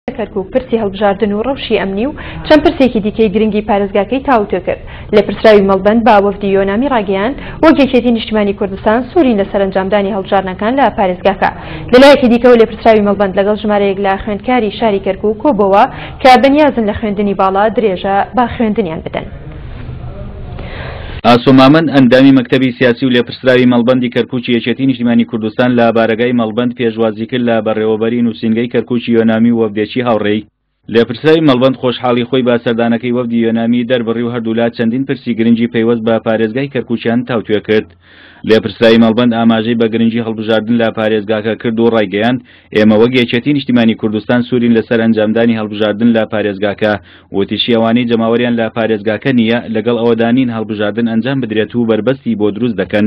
کەرکوک پرسی هەڵبژاردن و ڕەوشی ئەمنی و چەند پرسێکی دیکەی گرنگی پارێزگاکەی تاوتوێ کرد. لێپرسراوی مەڵبەند بە وەفدی یۆنامی ڕاگەیاند، وەک یەکێتی نیشتیمانی کوردستان سوورین لەسەر ئەنجامدانی هەڵبژاردنەکان لە پارێزگاکە. لەلایەکی دیکەوە لێپرسراوی مەڵبەند لەگەڵ ژمارەیەک لە خوێندکاری شاری کەرکوک کۆبۆوە کە بەنیازن لە خوێندنی باڵا درێژە بە خوێندنیان بدەن. ئاسۆ مامەند، ئەندامی مەکتەبی سیاسی و لێپرسراوی مەڵبەندی کەرکوکی یەکێتی نیشتیمانی کوردستان لە بارەگای مەڵبەند پێشوازیکرد لە بەڕێوەبەری نووسینگەی کەرکوکی یۆنامی و وەفدێکی هاوڕێی. لێپرسراوی مەڵبەند خۆشحاڵی خۆی بە سەردانەکەی وەفدی یۆنامی دەربڕی و هەردوولا چەندین پرسی گرنگی پەیوەست بە پارێزگای کەرکوکیان تاوتوێ کرد. لێپرسراوی مەڵبەند ئاماژەی بە گرنگی هەڵبژاردن لە پارێزگاکە کرد و ڕایگەیاند، ئێمە وەک یەکێتی نیشتیمانی کوردستان سوورین لەسەر ئەنجامدانی هەڵبژاردن لە پارێزگاکە. وتیشی، ئەوانەی جەماوەریان لە پارێزگاکە نییە، لەگەڵ ئەوەدا نین هەڵبژاردن ئەنجام بدرێت و بەربەستی بۆ دروست دەکەن.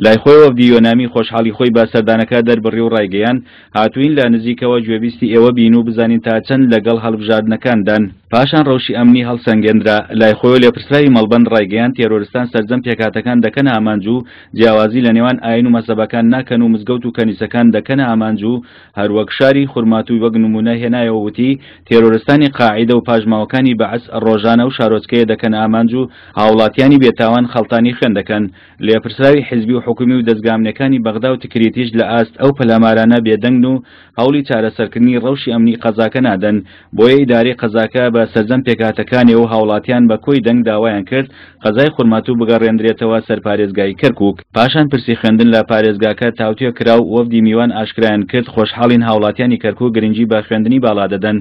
لای خۆیەوە وەفدی یۆنامی خۆشحاڵی خۆی بە سەردانەکە دەربڕی و ڕایگەیاند، هاتووین لە نزیکەوە گوێبیستی ئێوە بین و بزانین تا چەند لەگەڵ هەڵبژاردنەکاندان. پاشان ڕەوشی ئەمنی هەڵسەنگێندرا. لای خۆیەوە لێپرسراوی مەڵبەند ڕایگەیاند، تێرۆرستان سەرجەم پێکهاتەکان دەکەنە ئامانج و جیاوازی لە نێوان ئاین و مەزهەبەکان ناکەن و مزگەوت و کەنیسەکان دەکەنە ئامانج و هەروەک شاری خورماتووی وەک نموونە هێنایەوە وتی، تێرۆرستانی قاعیدە و پاشماوەکانی بەعس ڕۆژانە ئەو شارۆچکەیە دەکەنە ئامانج و هاوڵاتیانی بێتاوان خەڵتانی خوێن دەکەن. لێپرسراوی حیزبی و حکومی و دەزگا ئەمنیەکانی بەغدا و تکریتیش لە ئاست ئەو پەلامارانە بێدەنگن و هەوڵی چارەسەرکردنی ڕەوشی ئەمنی قەزاکە نادەن، بۆیە ئیدارەی قەزاکە بە سەرجەم پێکهاتەکانێ و هاوڵاتیان بە کۆی دەنگ داوایان کرد قەزای خورماتوو بگەڕێندرێتەوە سەر پارێزگای کەرکوک. پاشان پرسی خوێندن لە پارێزگاکە تاوتوێ کرا و وەفدی میوان ئاشکرایان کرد خۆشحاڵین هاوڵاتیانی کەرکوک گرنگی بە خوێندنی باڵا دەدەن.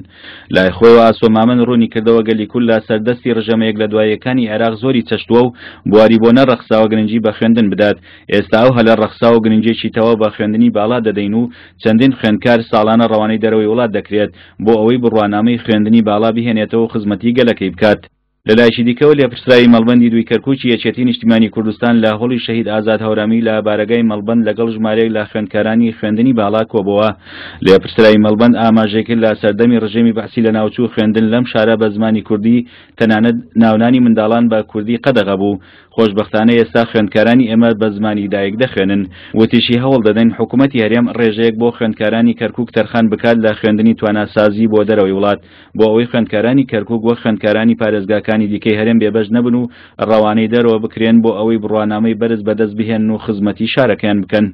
لای خۆیەوە ئاسۆ مامەند ڕوونی کردەوە گەلی کورد لە سەر دەستی ڕژێمە یەک لە دوایەکانی عێراق زۆری چەشتووە و بواری بۆ نەڕەخساوە گرنگی بە خوێندن بدات، ئێستا ئەو هەلە ڕەخساوە و گرنگیەکی تەواو بە خوێندنی باڵا دەدەین و چەندین خوێندکار ساڵانە ڕەوانەی دەرەوەی وڵات دەکرێت بۆ ئەوەی بڕوانامەی خوێندنی باڵا بهێنێتەوە و خزمەتی گەلەکەی بکات. لەلایەکی دیکەوە لێپرسراوی مەڵبەندی دووی کەرکوکی یەکێتی نیشتیمانی کوردستان لە هۆڵی شەهید ئازاد هەورامی لە بارەگای مەڵبەند لەگەڵ ژمارەیەک لە خوێندکارانی خوێندنی باڵا کۆبۆوە. لێپرسراوی مەڵبەند ئاماژەی کرد لە سەردەمی ڕژێمی بەعسی لەناوچوو خوێندن لەم شارە بە زمانی کوردی تەنانەت ناونانی منداڵان بە کوردی قەدەغە بوو خۆشبەختانە ئێستا خوێندکارانی ئێمە بە زمانی دایک دەخوێنن. وتیشی، هەوڵ دەدەین حکومەتی هەرێم ڕێژەیەک بۆ خوێندکارانی کەرکوک تەرخان بکات لە خوێندنی تواناسازی بۆ دەرەوەی وڵات، بۆ ئەوەی خوێندکارانی کەرکوک وەک خوێندکارانی پارێزگاکانی دیکەی هەرێم بێبەش نەبن و ڕەوانەی دەرەوە بکرێن بۆ ئەوەی بڕوانامەی بەرز بەدەست بهێنن و خزمەتی شارەکەیان بکەن.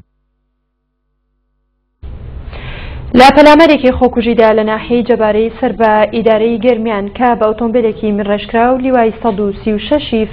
لە پەلامارێکی خۆکوژیدا لە ناحیەی جەبارەی سەر بە ئیدارەی گەرمیان کە بە ئۆتۆمبیلێکی مینڕێژکراو لیوای 136 ی.